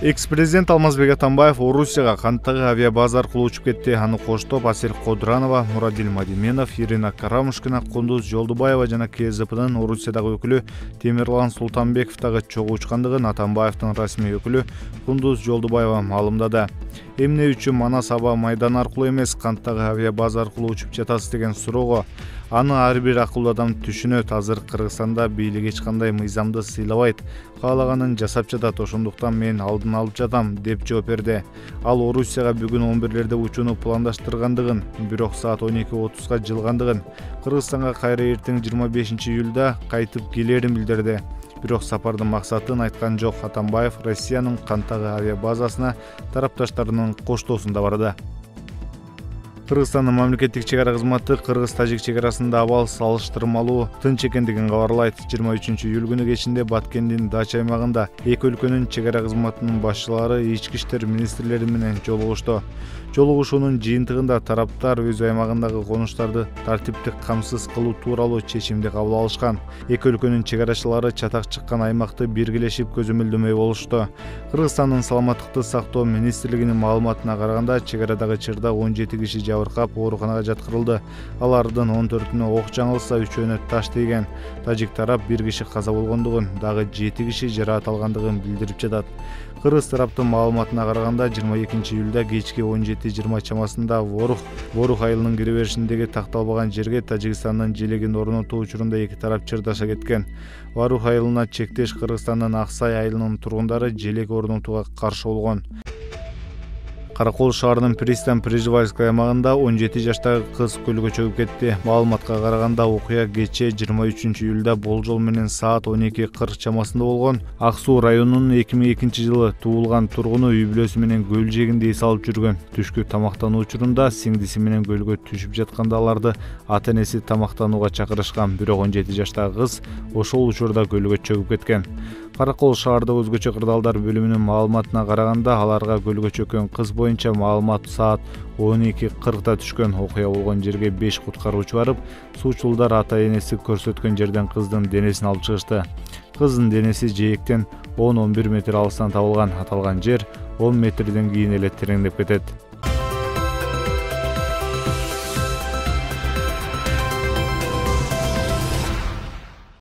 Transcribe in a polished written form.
Экс-президент Алмазбек Атамбаев Орусияга канаттагы авиабаза аркылуу учуп кетти. Аны коштоп Асель Кодранова, Мурадил Мадименов, Ирина Карамушкина, Кундуз Жолдубаева жана КСДПнын Орусиядагы өкүлү Темирлан Султанбеков дагы чогуу учкандыгын Атамбаевдин расмий өкүлү Кундуз Жолдубаева маалымдады. Эмне үчүн Манас аба майданы аркылуу эмес, канаттагы авиабаза аркылуу учуп жатасыз деген суроого аны ар бир акылдуу адам түшүнөт. Азыр Кыргызстанда бийлик эч кандай мыйзамды сыйлабайт, каалаганын жасап жатат, ошондуктан мен алдын алып жатам деп жооп берди. Ал Орусияга бүгүн 11-лерде учууну пландаштыргандыгын, бирок саат 12:30 жылгандыгын, Кыргызстанга кайра эртең 25-июлда кайтып келерин билдирди. Бирок сапардын максатын айткан жок. Атамбаев Россиянын канаттагы авиабазасына тарапташтарынын коштоосунда барды. Кыргызстандын мамлекеттик чек ара кызматы кыргыз-тажик чек арасында абал салыштырмалуу тынч экендигин кабарлайт. 23-июль күнү кечинде Баткендин Дача аймагында эки өлкөнүн чек ара кызматынын башчылары ички иштер министрлери менен жолугушту. Жолугушуунун жыйынтыгында тараптар өз аймагындагы конуштарды тартиптик камсыз кылуу тууралуу чечимди кабыл алышкан. Эки өлкөнүн чек арачылары чатак чыккан аймакты биргелешип көзөмөлдөмөй болушту. Кыргызстандын саламаттыкты сактоо министрлигинин маалыматына караганда, чек арадагы чырда 17 киши жабыркап ооруканага жаткырылды. Алардын 14-үнө ок жаңылса, 3-өөнө таш тийген. Тажик тарап 1 киши каза болгондугун, дагы 7 киши жараат алгандыгын билдирип жатат. Кыргыз тараптын маалыматына караганда, 22-июлда кечки 17:20 чамасында Ворух айылынын кире беришиндеги такталбаган жерге Тажикстандын желегин орнотуу учурунда эки тарап чырдаша кеткен. Ворух айылына чектеш Кыргызстандын Аксай айылынын тургундары желек орнотууга каршы болгон. Каракол шаарынын Пристань Прижевальская аймагында 17 жаштагы кыз көлгө чөгүп кетти. Маалыматка караганда, окуя кечээ 23-июлда болжол менен саат 12:40 чамасында болгон. Ак Суу районунун 2002-жылы туулган тургуну үй бүлөсү менен көл жээгинде эс алып жүргөн. Түшкү тамактануу учурунда сиңдиси менен көлгө түшүп жатканда аларды ата-энеси тамактанууга чакырышкан. Бирок 17 жаштагы кыз ошол учурда көлгө чөгүп кеткен. Каракол шаардык өзгөчө кырдаалдар бөлүмүнүн маалыматына караганда, аларга көлгө чөккөн кыз боюнча маалымат саат 12:40 түшкөн. Окуя болгон жерге 5 куткаруучу барып, суучулдар ата-энеси көрсөткөн жерден кыздын денесин алып чыгышты. Кыздын денеси жээктен 10-11 метр алыстан табылган. Аталган жер 10 метрден кийин эле тереңдеп кетет.